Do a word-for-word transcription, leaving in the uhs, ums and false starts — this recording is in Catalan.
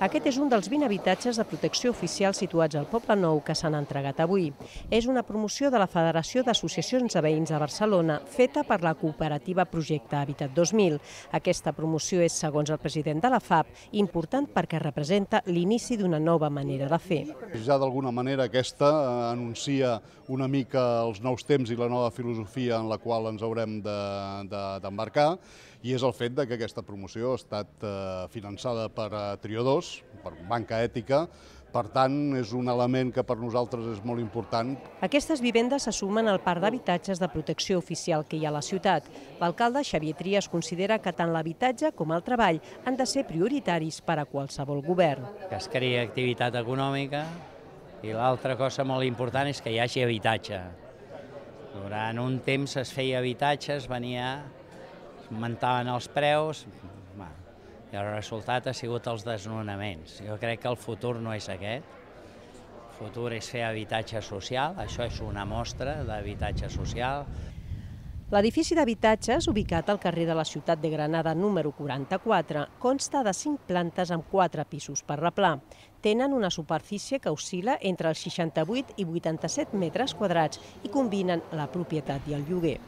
Aquest és un dels vint habitatges de protecció oficial situats al Poble Nou que s'han entregat avui. És una promoció de la Federació d'Associacions de Veïns de Barcelona, feta per la cooperativa Projecte Habitat dos mil. Aquesta promoció és, segons el president de la F A P, important perquè representa l'inici d'una nova manera de fer. Ja d'alguna manera aquesta anuncia una mica els nous temps i la nova filosofia en la qual ens haurem d'embarcar, i és el fet que aquesta promoció ha estat finançada per Trio dos, per Banca Ètica. Per tant, és un element que per nosaltres és molt important. Aquestes vivendes se sumen al parc d'habitatges de protecció oficial que hi ha a la ciutat. L'alcalde Xavier Trias considera que tant l'habitatge com el treball han de ser prioritaris per a qualsevol govern. Que es creï activitat econòmica i l'altra cosa molt important és que hi hagi habitatge. Durant un temps es feia habitatge, es venia, es augmentaven els preus, i el resultat ha sigut els desnonaments. Jo crec que el futur no és aquest. El futur és fer habitatge social, això és una mostra d'habitatge social. L'edifici d'habitatges, ubicat al carrer de la Ciutat de Granada número quaranta-quatre, consta de cinc plantes amb quatre pisos per replà. Tenen una superfície que oscil·la entre els seixanta-vuit i vuitanta-set metres quadrats i combinen la propietat i el lloguer.